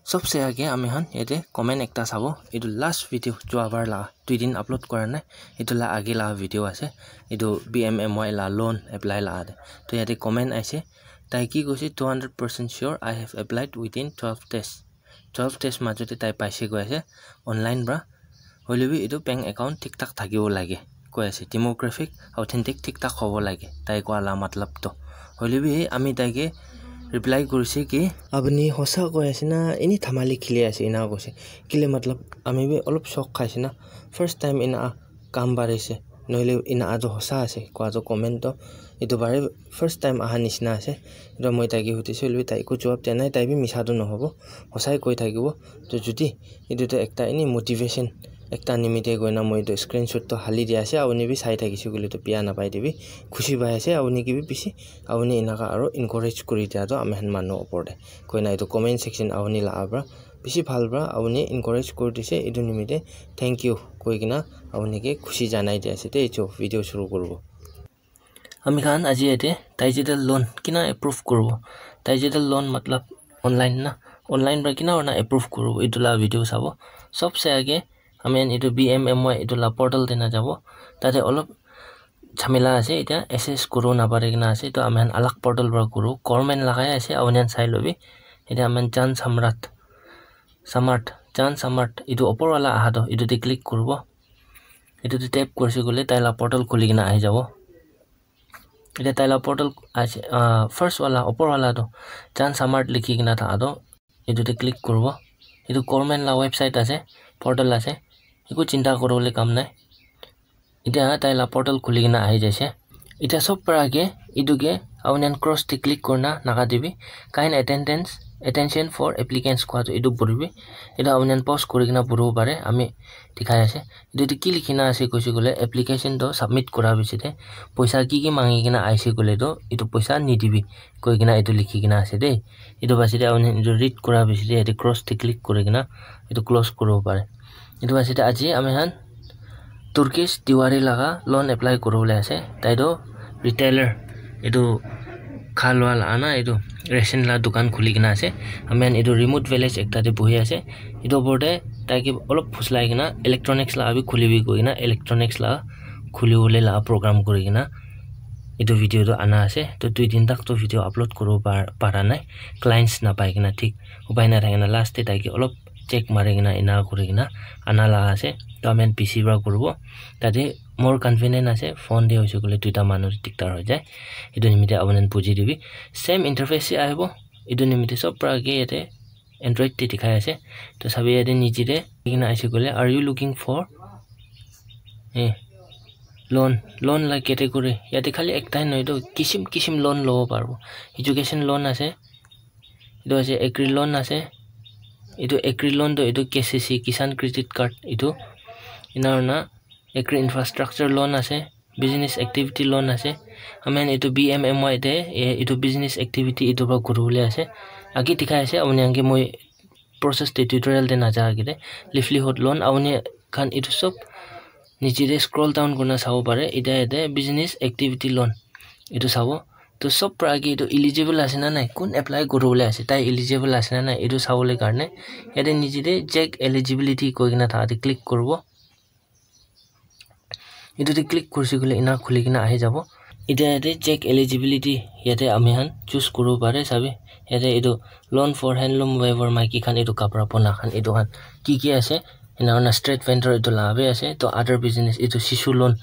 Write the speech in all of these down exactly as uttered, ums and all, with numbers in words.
Sobse age ami khan yate comment ekta sabo. Etu last video jua bar la dui din upload kora nai. Etu la age la video ase. Etu B M M Y la loan apply la ate. To yate comment aise. Tai ki koise, "Two hundred percent sure I have applied within twelve days." Twelve days majote tai paise koi ase online pra. Hoile bi etu bank account thik thak thakibo lage koi ase. Demographic authentic thik thak hobo lage, tai koa la matlab to. Hoile bi ami tai ke reply kurise ki, "Apuni hosa koi ase na, eni dhamali khili ase?" ena koise. Kile matlab ami bi olop shock khaise na, first time ena kam barise, nohole ena atu hosa ase koa tu comment to. Etu bare first time aha nishina ase. Etu moi tai ke hudise, hoile bi tai eku jawab dia nai, tai bi misa tu nohobo, hosai koi thakibo. To jodi etu tu ekta eni motivation ekta nimite koina moi etu screenshot to hali dia ase. Apuni bi sai thakise koile to bia napai dibi, khushi pai ase apuni ke bi bishi. Apuni enaka aro encourage kuri dia to ami khan manu opor te koina etu comment section apuni la pra bishi bhal pra apuni encourage kuri dise. Etu nimite thank you koi kena apuni ke khushi janai dia ase te. Etu video shuru kuribo. Ami khan aji yate digital loan kina approve kuribo. Digital loan matlab online na, online pra kina hoi na approve kuribo, etu la video sabo. Sobse age ami khan etu B M M Y etu la portal te na jabo. Tate olop jhamela ase, etia access kuribo napari kena ase, to ami khan alag portal pra kuribo. Government lagai ase, apuni khan sai lobi. Etia ami khan Jan Samrat, Samart, Jan Samart, etu opor wala aha to, etu te click kuribo. Etu te tap kurise koile tai la portal khuli kena ahi jabo. Etia tai la portal ase, ah, first wala, opor wala to Jan Samart likhi kena thaha to, etu te click kuribo. Etu government la website ase, portal ase, eku chinta kuribole kam nai. Etia tai la portal khuli kena ahi jaise. Etia sob pra age etu ke apuni khan cross te click kurina naga te bi kind attendance, attention for applicants koa to etu puribi. Etu apuni khan pause kuri kena puribo pare, ami dikhai ase. Etu te ki likhina ase koise koile, application to submit kura piche te poisa ki ki mangi kena aise koile to etu poisa nidibi koi kena etu likhi kena ase de. Etu piche te apuni khan etu read kura piche te yate cross te click kuri kena etu close kuribo pare. Etu piche te aji ami khan Turkish Tiwari laga loan apply kuribole ase. Tai toh retailer, etu kha lua la na, etu ration la dukan khuli kena ase. Ami khan etu remote village ekta te buhi ase. Etu opor te tai ke olop phuslai kena electronics la bi khulibi koi kena electronics la khulibole la program kuri kena etu video toh ana ase. Toh dui din tak toh video upload kuribo par-, para nai, clients napai kena, thik upai nathaki na last te tai ke olop check mari kena ena kuri kena ana laga ase. Toh ami khan P C para kuribo. Tate more convenient ase, phone te hoise koile duita manu te diktar hoi jai. Etu nimite apuni khan buji dibi. Same interface he ahibo. Etu nimite sob para ke yate Android te dikhai ase. Toh sabi yate niche te likhi kena aise koile, "Are you looking for, eh, loan?" Loan la category. Yate khali ekta he nohoi toh, kisim kisim loan lobo paribo. Education loan ase. Etu ase agri loan ase. Etu agri loan toh etu K C C, Kisan Credit Card etu. Ena hoina agri infrastructure loan ase. Business activity loan ase. Ami khan etu B M M Y te, eh, etu business activity etu para kuribole ase. Age dikhai ase, apuni khan ke moi process te tutorial te naja age te livelihood loan, apuni khan etu sob niche te scroll down kurina sabo pare. Eta yate business activity loan etu sabo. Toh sob para age etu eligible ase na nai, kun apply kuribole ase, tai eligible ase na nai, etu sabole karne yate niche te check eligibility koi kena thaha te click kuribo. Etu te click kurise koile ena khuli kena ahi jabo. Eta yate check eligibility, yate ami khan choose kuribo pare, sabi. Yate etu loan for handloom weaver, maiki khan etu kapra bona khan, etu khan ki ki ase. Ena hoina street vendor etu la bi ase. Toh other business, etu shishu loan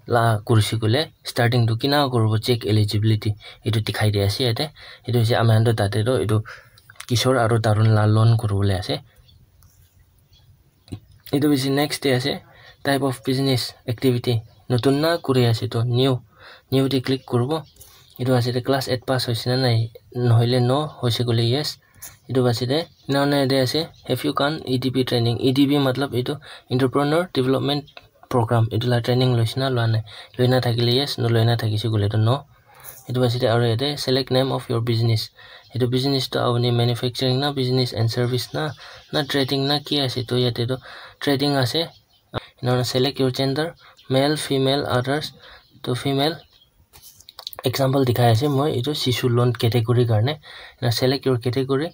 la kurise koile starting tu kina kuribo, check eligibility etu dikhai di ase yate. Etu hoise ami khan toh tate toh etu Kishore aru Tarun la loan kuribole ase. Etu piche next te ase type of business activity, notun na kuri ase toh new, new te click kuribo. Etu piche te class eight pass hoise na nai, nohoile no, hoise koile yes. Etu piche te ena hoina yate ase, "Have you gone E D P training?" E D P matlab etu entrepreneur development program, etu la training loise na lua nai. Loina thakile yes, noloina thakise koile toh no. Etu piche te aru yate select name of your business. Etu business toh apuni manufacturing na, business and service na, na trading na, ki ase? Toh yate toh trading ase. Ena hoina select your gender, male, female, others. Toh female, example dikhai ase moi, etu shishu loan category karne. Ena select your category,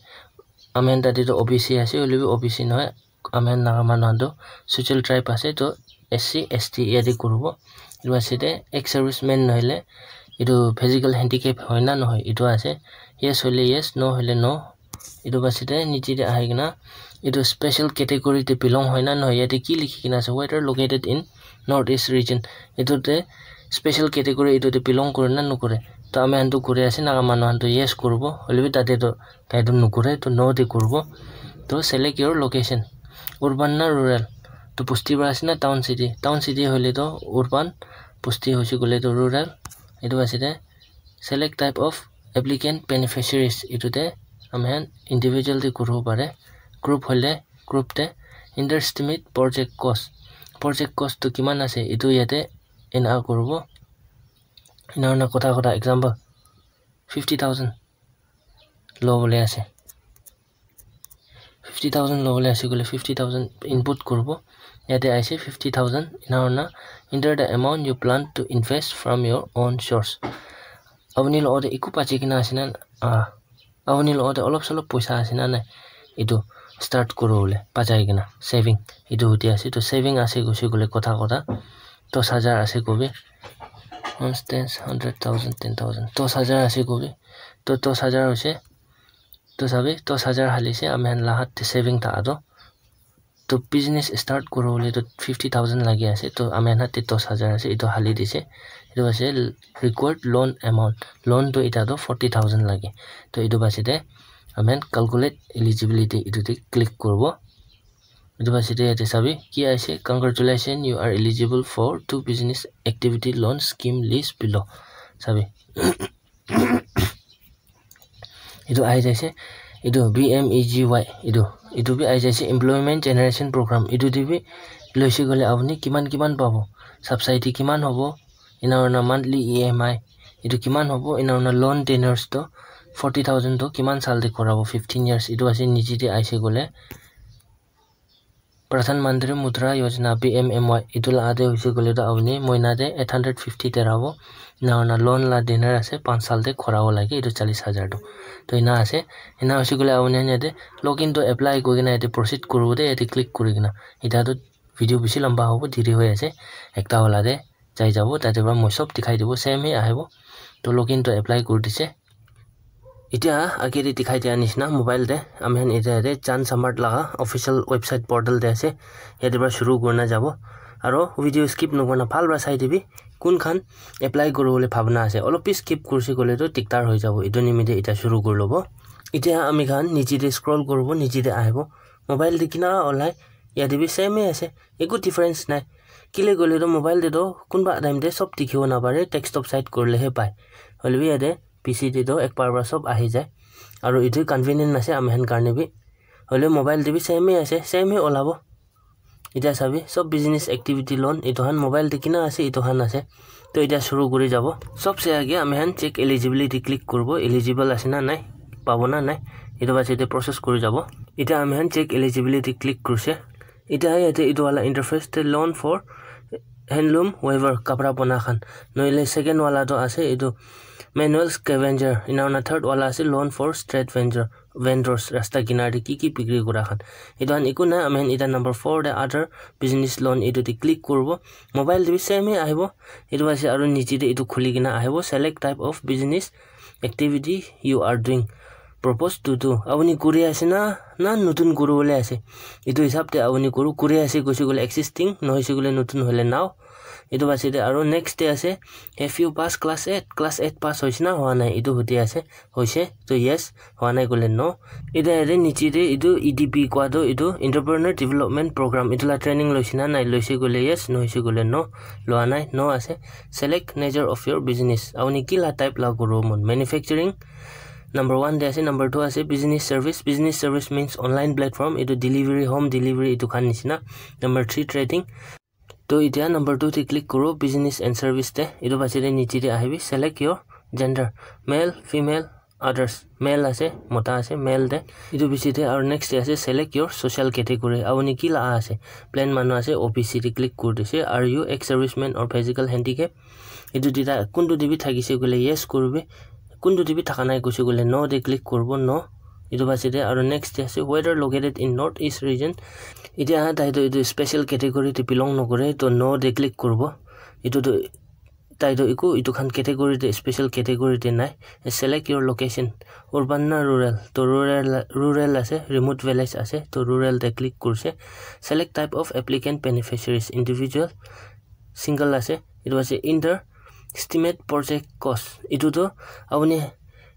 Ami khan tate toh O B C ase, hoilebi O B C nohoi. Ami khan Naga manu khan toh social tribe ase, toh S C, S T yate kuribo. Etu ase de ex-serviceman nohoile etu physical handicap hoi na nohoi, etu ase. Yes hoile yes, no hoile no. Etu ase de niche de ahi kena etu special category te belong hoi na nohoi, yate ki likhi kena ase, whether located in North East region. Etu te special category etu te belong kore na nokore. To ami khan toh kuri ase, Naga manu khan toh yes kuribo, hoilebi tate toh tai toh nokore, toh no te kuribo. Toh select your location, urban na rural, toh bosti para ase na town city. Town city hoile toh urban, bosti hoise koile toh rural. Etu ase de select type of applicant beneficiaries, etu te ami khan individual te kuribo pare. Group hoile group te. Underestimate project cost, project cost toh kiman ase etu yate ena kuribo. Ena hoina kotha kotha example fifty thousand lobole ase. Fifty thousand lobole ase koile fifty thousand input kuribo. Yate aise fifty thousand. Ena hoina enter the amount you plan to invest from your own source. Apuni logote eku bachi kena ase na, ah, apuni logote olop solop poisa ase na nai, etu start kuribole bachai kena saving, etu hudi ase. Toh saving ase koise koile kotha kotha dos hajar ase kobi, once, ten, hundred, thousand, ten thousand, dos hajar ase kobi. Toh dos hajar hoise, toh sabi, dos hajar halise ami khan la hat te saving thaka toh. Toh business start kuribole toh fifty thousand lagi ase, toh ami khan te dos hajar ase, etu hali dise. Etu ase required loan amount, loan toh eta toh forty thousand lage. Toh etu bachi de ami khan calculate eligibility, etu te click kuribo. Etu bachi de yate sabi ki ase, congratulations, you are eligible for two business activity loan scheme list below. Sabi. Etu ahi jaise, etu B M E G Y, etu, etu bi ahi jaise, Employment Generation Program. Etu te bi loise koile apuni kiman kiman pabo, subsidy kiman hobo, ena hoina monthly E M I etu kiman hobo, ena hoina loan tenures toh forty thousand toh kiman saal te kurabo, fifteen years. Etu ase niche te aise koile Pradhan Mantri Mudra Yojana, P M M Y, etu la ate hoise koile toh apuni moina te eight hundred fifty terabo, ena hoina loan la tenure ase, panch saal te kurabo lage etu challis hajar toh. Toh ena ase, ena hoise koile apuni khan yate login to apply kuri kena yate proceed kuribo de, yate click kuri kena. Eta toh video bishi lamba hobo, deri hoi ase, ekta wala te jai jabo, tate para moi sob dikhai dibo, same he ahibo. Toh login to apply kuri dise. Etia age te dikhai dia nishina mobile te ami khan etia yate Jhan Samarth laga official website portal te ase. Yate para shuru kurina jabo. Aro video skip nokurina bhal para sai dibi. Kun khan apply kuribole bhabna ase, olop bi skip kurise koile toh dikdar hoi jabo. Etu nimite etia shuru kuri lobo. Etia ami khan niche te scroll kuribo, niche te ahibo. Mobile te kina olai, yate bi same he ase, eku difference nai. Kile koile toh mobile te toh kunba time te sob dikhibo napare, desktop side kurile he pai. Hoile bi yate P C te toh ek baar para sob ahi jai. Aru etu convenient ase ami khan karne bi. Hoile mobile te bi same he ase, same he olabo. Etia sabi, sob business activity loan, etu khan mobile te kina ase, etu khan ase. Toh etia shuru kuri jabo. Sobse age ami khan check eligibility click kuribo, eligible ase na nai, pabo na nai. Etu bachi te process kuri jabo. Etia ami khan check eligibility click kurise. Etia yate etu wala interface te loan for handloom weaver, kapra bona khan. Nohole second wala toh ase etu manual scavenger. Ena hoina third wala ase loan for street vendor, vendors, rasta kinar te ki ki bikri kura khan. Etu khan eku nai, ami khan eta number four te other business loan etu te click kuribo. Mobile te bi same he ahibo. Etu ase aru niche te etu khuli kena ahibo. Select type of business activity you are doing. Propose to do. Apuni kuri ase na, na notun kuribole ase. Etu hisab te apuni kuru, kuri ase koise koile existing, nohoise koile notun hoile nao. Etu bachi te aru next te ase, have you pass class eight? Class eight pass hoise na hoa nai? Etu hudi ase, hoise, toh yes, hoa nai koile no. Etia yate niche te etu E D P koa toh etu Entrepreneur Development Program, etu la training loise na nai, loise koile yes, nohoise koile no, loa nai, no ase. Select nature of your business, apuni ki la type la kuribo mon, manufacturing, number one te ase, number two ase business service. Business service means online platform, etu delivery, home delivery etu khan nishina. Number three trading. Toh etia number two te click kuro, business and service te. Etu bachi te niche te ahibi, select your gender, male, female, others. Male ase, mota ase, male te. Etu bichi te aru next te ase, select your social category. Apuni ki la ase, plain manu ase, O B C te click kuri dise. Are you ex-serviceman or physical handicap? Etu duita kuntu te bi thakise koile yes kuribi, kuntu te bi thaka nai koise koile no te click kuribo, no. Etu paside aru next te ase whether located in north east region. Etia tai toh etu special category te belong nokore, toh no te click kuribo. Etu toh tai toh eku etu khan category te, special category te nai. Select your location, urban na rural? Toh rural, rural ase, remote village ase, toh rural te click kurise. Select type of applicant, beneficiaries, individual, single ase. Etu ase enter estimate project cost. Etu toh apuni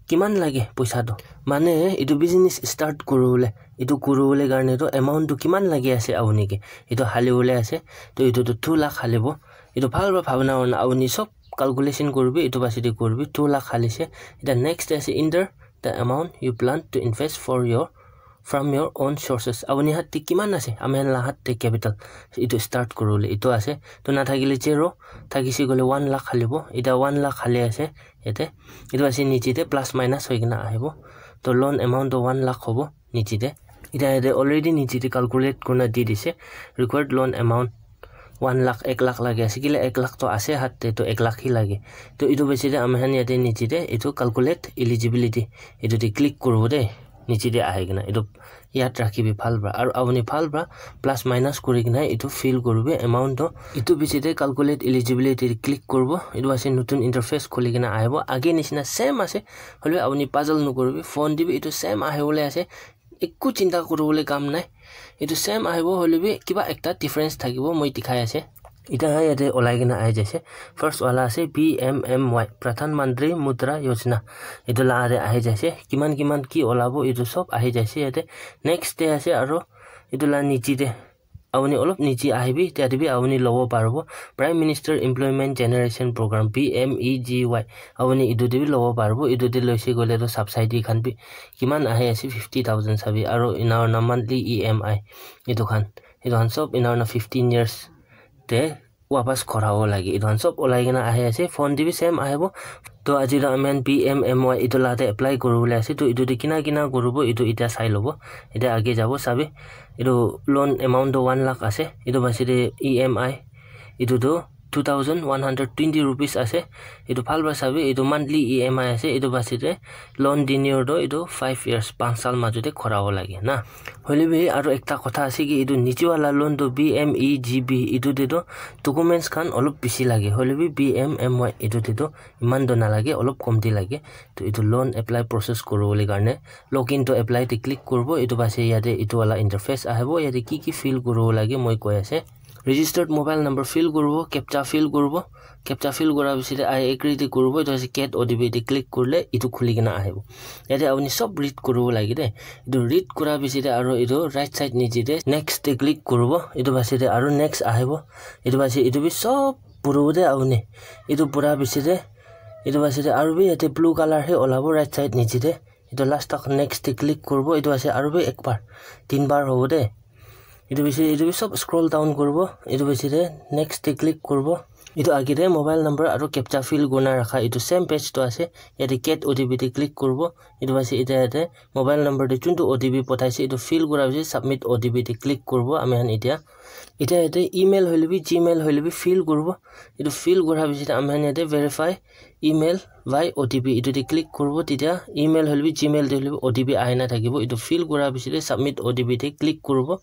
kiman lage poisa toh, mane etu business start kuribole, etu kuribole karne toh amount toh kiman lage ase apuni ke, etu halibole ase. Toh etu toh two lakh halibo. Etu bhal para bhabna hoina apuni sob calculation kuribi, etu paside kuribi. Two lakh halise. Etia next te ase enter the amount you plan to invest for your, from your own sources. Apuni hath te kiman ase, ami khan la hath te capital, etu start kuribole etu ase. Toh nathakile zero, thakise koile one lakh halibo. Etia one lakh hali ase yate. Etu ase niche te plus minus hoi kena ahibo. Toh loan amount toh one lakh hobo niche te. Etia yate already niche te calculate kurina di dise. Required loan amount one lakh, ek lakh lage ase. Kile ek lakh toh ase hath te, toh ek lakh hi lage. Toh etu paside ami khan yate niche te etu calculate eligibility, etu te click kuribo de. Niche te ahi kena etu yat rakhibi bhal para. Aru apuni bhal para plus minus kuri kena etu fill kuribi amount toh. Etu paside calculate eligibility te click kuribo. Etu ase notun interface khuli kena ahibo. Age nishina same ase. Hoilebi apuni puzzle nokuribi. Phone te bi etu same ahibole ase. Eku chinta kuribole kam nai. Etu same ahibo, hoilebi kiba ekta difference thakibo, moi dikhai ase. Etia yate olai kena ahi jaise. First wala ase P M M Y, Pradhan Mantri Mudra Yojana. Etu la te ahi jaise. Kiman kiman ki olabo, etu sob ahi jaise yate. Next te ase aru etu la niche te, apuni olop niche ahibi, tate bi apuni lobo paribo. Prime Minister Employment Generation Program, P M E G Y. Apuni etu te bi lobo paribo. Etu te loise koile toh subsidy khan bi kiman ahi ase, fifty thousand sabi, aru ena hoina monthly E M I etu khan, etu khan sob ena hoina fifteen years te wapas khorabo lage. Etu khan sob olai kena ahi ase. Phone te bi same ahibo. Toh aji toh ami khan P M M Y etu la te apply kuribole ase. Toh etu te kina kina kuribo, etu etia sai lobo. Etia age jabo sabi. Etu loan amount toh one lakh ase. Etu paside E M I etu toh two thousand one hundred twenty rupees ase. Etu bhal para sabi, etu monthly E M I ase. Etu paside loan tenure toh etu five years, panch saal majo te khorabo lage na. Hoilebi aru ekta kotha ase ki, etu niche wala loan toh P M E G Y, etu te toh documents khan olop bishi lage. Hoilebi P M M Y etu te toh eman toh nalage, olop komti lage. Toh etu loan apply process kuribole karne login to apply te click kuribo. Etu paside yate etu wala interface ahibo. Yate ki ki fill kuribo lage moi koi ase. Registered mobile number fill kuribo, captcha fill kuribo. Captcha fill kura pisite I agree te kuribo, etu ase get O T P te click kurile etu khuli kena ahibo. Yate apuni sob read kuribo lage de. Etu read kura pisite aru etu right side niche te next te click kuribo. Etu paside aru next ahibo. Etu paside etu bi sob puribo de apuni. Etu pura pisite, etu paside aru bi yate blue color he olabo right side niche te. Etu last tak next te click kuribo. Etu ase aru bi ek bar, tin bar hobo de. Etu bishi, etu bi sob scroll down kuribo. Etu bishi de next te click kuribo. Etu age te mobile number aru captcha fill kurina rakha etu same page tu ase. Yate get O T P te click kuribo. Etu bishi yate, yate mobile number te chuntu O T P pathaise etu fill kura bishi submit O T P te click kuribo ami khan etia. Etia yate email hoile bi, Gmail hoile bi fill kuribo. Etu fill kura bishi te ami khan yate verify email by O T P etu te click kuribo, tetia email hoile bi Gmail te hoile bi O T P ahi na thakibo. Etu fill kura piche te submit O T P te click kuribo.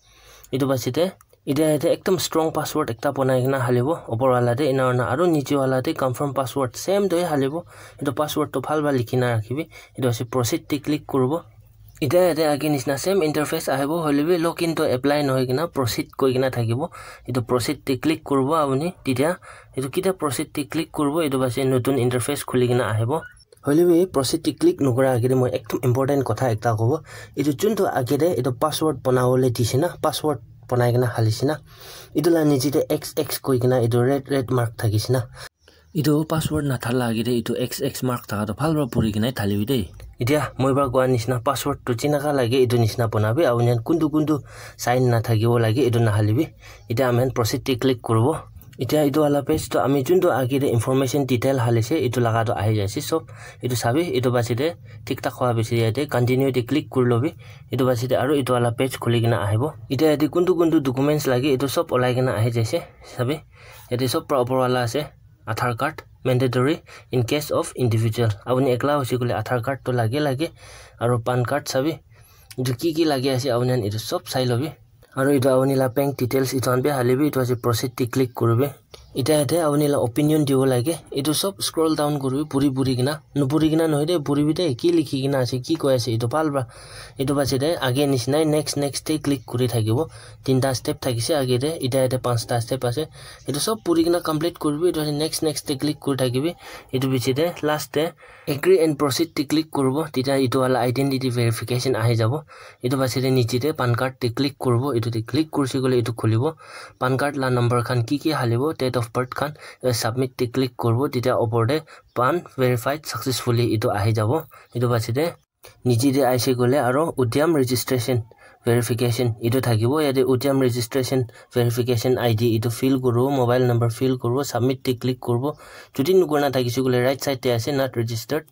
Etu piche te etia yate ekdum strong password ekta banai kena halibo, upor wala te ena hoina aru niche wala te confirm password same tu he halibo. Etu password tu bhal para likhi na rakhibi. Etu ase proceed te click kuribo. Etia yate age nishina same interface ahibo, hoile bi login to apply nohoi kena proceed koi kena thakibo. Etu proceed te click kuribo apuni, tetia etu kitia proceed te click kuribo, etu piche notun interface khuli kena ahibo. Hoile bi proceed te click nokura age te moi ekdum important kotha ekta kobo. Etu juntu age te etu password banabole dise na, password banai kena halise na, etu la niche te X X koi kena etu red red mark thakise na, etu password nathala age te etu X X mark thaka toh bhal para puri kena thalibi de. Etia moi para koa nishina password tu jinaka lage etu nishina banabi, apuni khan kuntu kuntu sign nathakibo lage etu nahalibi. Etia ami khan proceed te click kuribo. Etia etu wala page tu ami juntu age te information detail halise etu laga tu ahi jaise sob. Etu sabi, etu piche te thik thak hua piche te yate continue te click kuri lobi. Etu piche te aru etu wala page khuli kena ahibo. Etia yate kuntu kuntu documents lage etu sob olai kena ahi jaise. Sabi, yate sob para upor wala ase. Aadhaar card mandatory in case of individual. Apuni ekla hoise koile Aadhaar card tu lage lage. Aru PAN card sabi. Etu ki ki lagi ase apuni khan etu sob sai lobi. Aru etu apuni la bank details etu khan bi hali bi etu ase proceed te click kuribi. Etiya yate apuni la opinion dibo lage. Etu sob scroll down kuribi puri puri kena. Nupuri kena nohoi de, puribi de, ki likhi kena ase, ki koi ase, etu bhal para. Etu base de age nisna next next te click kuri thakibo. Tinta step thakise age te, etiya yate panchta step ase. Etu sob puri kena complete kuribi, etu next next te click kuri thakibi. Etu piche te last te agree and proceed te click kuribo, titya etu wala identity verification ahi jabo. Etu base de niche te pan card te click kuribo, etu te click kurise koile etu khulibo. Pan card la number khan ki ki halibo, date of birth khan, eh, submit te click kuribo, titya opor te pan verified successfully etu ahi jabo. Etu base de niche te aise koile aro Udyam registration verification etu thakibo. Yate Udyam registration verification I D etu fill kuribo, mobile number fill kuribo, submit te click kuribo. Jodi nukurina thakise koile right side te ase, not registered.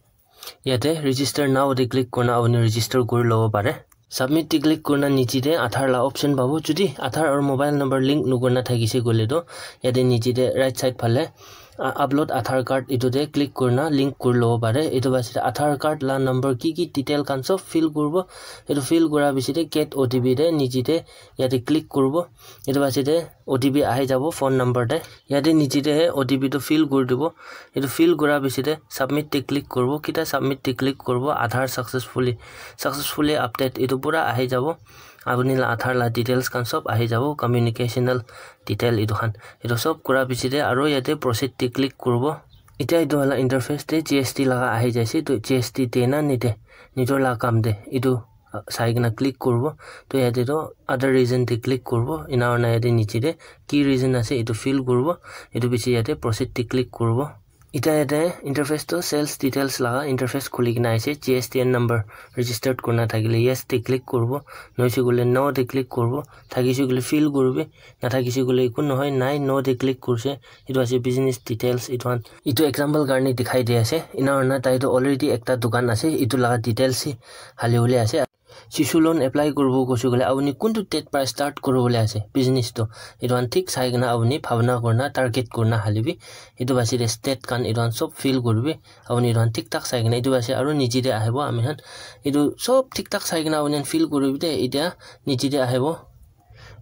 Yate register now te click kurina apuni register kuri lobo pare. Submit te click kurina niche te Aadhaar la option pabo. Jodi Aadhaar aru mobile number link nukurina thakise koile toh yate niche te right side phale, uh, upload Aadhaar card etu te click kurina link kuri lobo pare. Etu base de Aadhaar card la number ki ki detail khan sob fill kuribo. Etu fill kura piche de get O T P te niche te yate click kuribo. Etu base de O T P ahi jabo phone number te. Yate niche te he O T P tu fill kuri dibo. Etu fill kura piche de submit te click kuribo. Kita submit te click kuribo, Aadhaar successfully, successfully update etu pura ahi jabo. Apuni la Aadhaar la details khan sob ahi jabo, communicational detail etu khan. Etu sob kura piche de aro yate proceed te click kuribo. Etiya etu wala interface te G S T laga ahi jaise, to G S T de na nide, nijor la kam de etu, uh, sai kena click kuribo. To yate toh other reason te click kuribo. Ena hoina yate niche te ki reason ase etu fill kuribo. Etu piche yate proceed te click kuribo. Etiya yate interface toh sales details laga interface khuli kena ase. G S T N number registered kurina thakile yes te click kuribo. Nohoi se koile no te click kuribo. Thakise koile fill kuribi. Nathakise koile eku nohoi, nai, no te click kurise. Etu ase business details. Etu khan, etu example karne dikhai di ase. Ena hoina tai toh already ekta dukan ase. Etu laga details hi hali bole ase. Shishu loan apply kuribo koise koile apuni kuntu date para start kuribole ase business toh, etu khan thik sai kena apuni bhabna kurina target kurina hali bi etu base de state khan etu khan sob fill kuribi. Apuni etu khan thik thak sai kena etu base aru niche de ahibo ami khan etu sob thik thak sai kena apuni khan fill kuribi de. Etiya niche de ahibo.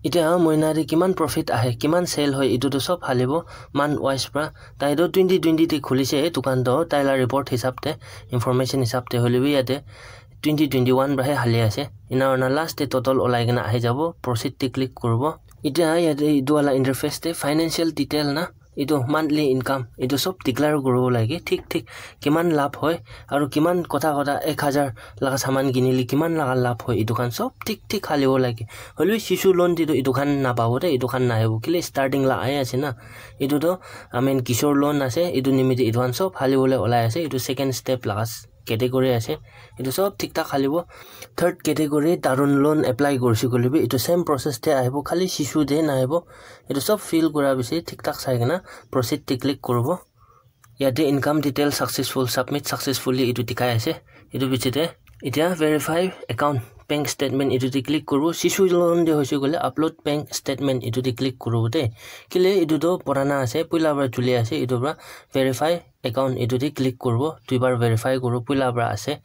Etiya moina te kiman profit ahe, kiman sale hoi, etu tu sob halibo month wise pra. Tai tu twenty twenty te khulise dukan tu, tai la report hisab te, information hisab te hoile bi yate twenty twenty-one pra he hali ase. Ena hoina last te total olai kena ahi jabo, proceed te click kuribo. Etiya yate etu wala interface te financial detail na, etu monthly income, etu sob declare kuribo lage, thik thik kiman labh hoi, aru kiman kotha kotha ek hajar laga saman kinile kiman laga labh hoi, etu khan sob thik thik halibo lage. Hoilebi shishu loan te toh etu khan napabo de, etu khan nahibo, kile starting la ahi ase na. Etu toh, I mean, Kishore loan ase, etu nimite etu khan sob halibole olai ase, etu second step laga category ase. Etu sob thik thak halibo. Third category, Tarun loan apply kurise koile bi etu same process te ahibo, khali shishu te nahibo. Etu sob fill kura piche thik thak sai kena proceed te click kuribo. Yate income detail successful, submit successfully etu dikhai ase. Etu piche te etiya verify account, bank statement etu te click kuribo. Shishu loan te hoise koile upload bank statement etu te click kuribo de. Kile etu toh purana ase, puila para chuli ase, etu para verify account etu te click kuribo, duibar verify kuribo, puila para ase.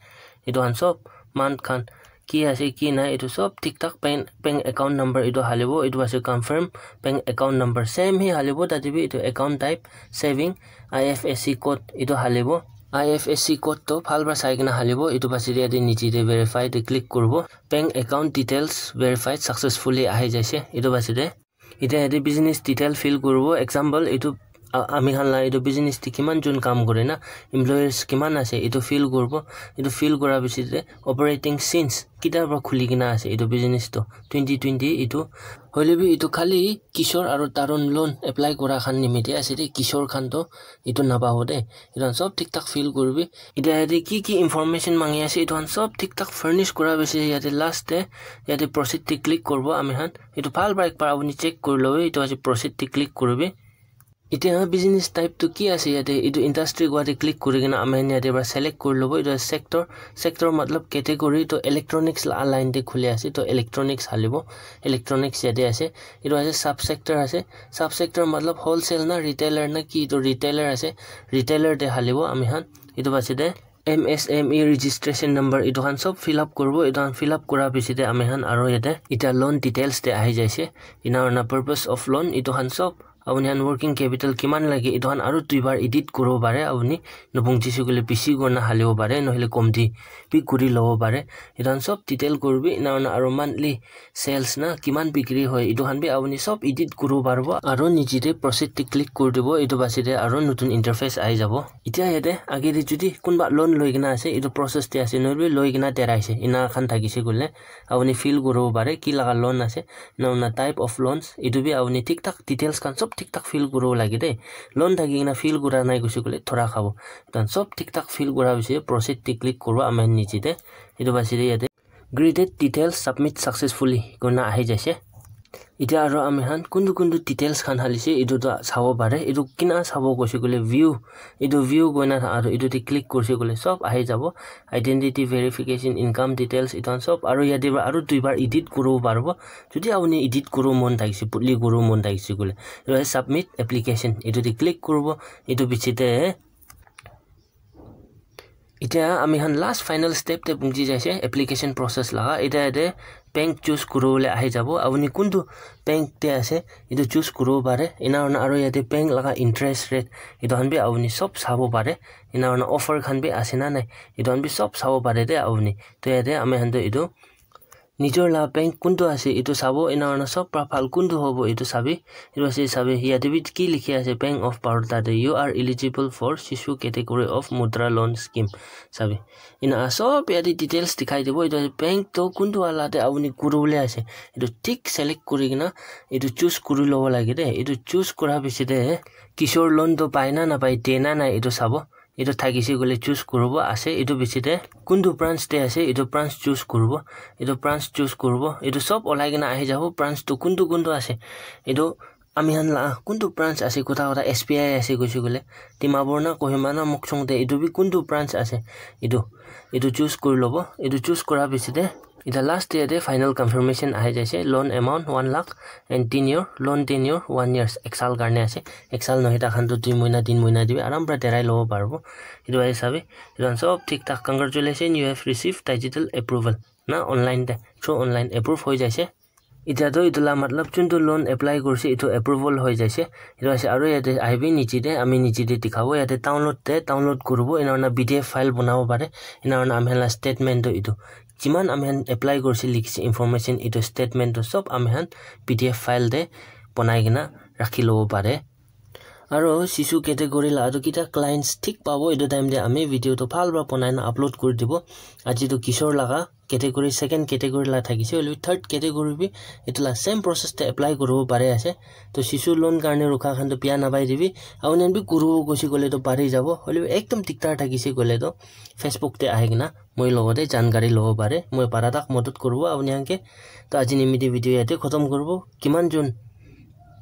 Etu khan sob month khan ki ase ki nai, etu sob thik thak bank, bank account number etu halibo, etu ase confirm bank account number same hi halibo, tate bi etu account type saving, I F S C code etu halibo. I F S C code toh bhal para sai kena halibo, etu base de yate niche te verify te click kuribo. Bank account details verified successfully ahi jaise, etu base de. Etiya yate business detail fill kuribo. Example, etu, a-, ami khan la etu business te kiman jon kam kure na, employees kiman ase, etu fill kuribo. Etu fill kura piche te operating since kitia para khuli kena ase etu business toh, twenty twenty etu. Hoile bi etu khali Kishore aru Tarun loan apply kura khan nimite ase de, Kishore khan toh etu napabo de. Etu khan sob thik thak fill kuribi. Etiya yate ki ki information mangi ase, etu khan sob thik thak furnish kura piche yate last te yate proceed te click kuribo ami khan. Etu bhal para ekbar apuni check kuri lobi, etu ase proceed te click kuribi. Etiya business type tu ki ase yate, etu industry kowa te click kuri kena ami khan yate para select kuri lobo. Etu ase sector, sector matlab category, to electronics la line te khuli ase, to electronics halibo, electronics yate ase. Etu ase sub sector ase, sub sector matlab wholesale na retailer na ki, to retailer ase, retailer te halibo ami khan. Etu base de M S M E registration number, etu khan sob fill up kuribo. Etu khan fill up kura piche te ami khan aro yate eta loan details te ahi jaise. Ena hoina purpose of loan, etu khan sob apuni khan working capital kiman lage, etu khan aro duibar edit kuribo pare apuni. Nabunjise koile bishi kurina halibo pare, nohole komti bi kuri lobo pare. Etu khan sob detail kuribi. Ena hoina aro monthly sales na kiman bikri hoy, etu khan bi apuni sob edit kuribo paribo. Aro niche te proceed te click kuri dibo, etu piche te aro notun interface ahi jabo. Etia yate age te jodi kunba loan loi kena ase, etu process te ase, nohoile bi loi kena derai ase, ena khan thakise koile apuni fill kuribo pare ki laga loan ase, ena hoina type of loans, etu bi apuni thik thak details khan sob thik thak fill kuribo lage de. Loan thaki kena fill kura nai koise koile thora khabo. Etu khan sob thik thak fill kura hoise, proceed te click kuribo ami khan niche te. Etu piche te yate graded details submit successfully koina ahi jaise. Etia aro ami khan kuntu kuntu details khan halise etu toh sabo pare. Etu kina sabo koise koile view, etu view koina tha-, aro etu te click korise koile sob ahi jabo. Identity verification, income details, etu khan sob aro yate para aro duibar edit kuribo paribo. Jodi apuni edit kuribo mon thakise, putli kuribo mon thakise koile, etu submit application, etu te click kuribo. Etu piche te etia ami khan last final step te punchi jaise application process laga. Etia yate bank choose kuribole ahi jabo. Apuni kuntu bank te ase, etu choose kuribo pare. Ena hoina aro yate bank laga interest rate, etu khan bi apuni sob sabo pare. Ena hoina offer khan bi ase na nai, etu khan bi sob sabo pare de apuni. To yate ami khan toh etu nijor la bank kuntu ase, etu sabo. Ena hoina sob pra bhal kuntu hobo, etu sabi. Etu ase sabi, yate bi ki likhi ase, Bank of Baroda te, "You are eligible for Shishu category of Mudra Loan Scheme." Sabi. Ena sob yate details dikhai dibo. Etu bank toh kuntu wala te apuni kuribole ase, etu thik select kuri kena etu choose kuri lobo lage de. Etu choose kura piche te kisor loan toh pai na napai, de na nai, etu sabo. Etu thakise koile choose kuribo ase. Etu piche te kuntu branch te ase, etu branch choose kuribo. Etu branch choose kuribo. Etu sob olai kena ahi jabo, branch toh kuntu kuntu ase. Etu ami khan la kuntu branch ase, kotha kotha S B I ase koise koile, Dimapur na Kohima na Mokokchung te, etu bi kuntu branch ase, etu, etu choose kuri lobo. Etu choose kura piche te etia last te yate final confirmation ahi jaise, loan amount one lakh and tenure, loan tenure one years, ek saal karne ase. Ek saal nohoi, takhan toh dui mohina, tin mohina te bi aram para derai lobo paribo. Etu ahi sabi, etu khan sob thik thak. Congratulations, you have received digital approval. Na online te, through online approve hoi jaise. Etia toh etu la matlab juntu loan apply kurise, etu approval hoi jaise. Etu ase, aro yate ahibi niche te, ami niche te dikhabo, yate download te download kuribo, ena hoina P D F file banabo pare. Ena hoina ami khan la statement toh etu, jiman ami khan apply kurise likhise information, etu statement toh sob ami khan P D F file te banai kena rakhi lobo pare. Aro Shishu category la aro kita clients thik pabo, etu time te ami video toh bhal para banai na upload kuri dibo. Aji toh kisor laga category, second category la thakise, hoilebi third category bi etu la same process te apply kuribo pare ase. To Shishu loan karne rukha khan toh biya napai dibi. Apuni khan bi kuribo koise koile toh pari jabo, hoilebi ekdom dikdar thakise koile toh Facebook te ahi kena moi logote jankari lobo pare, moi para tak modot kuribo apuni khan ke. To aji nimite video yate khotom kuribo. Kiman jon,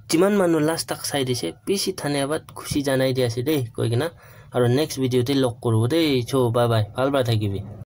jiman manu last tak sai dise, bishi dhanyabad, khushi janai di ase de, koi kena. Aro next video te log kuribo de, cho, bye bye, bhal para thakibi.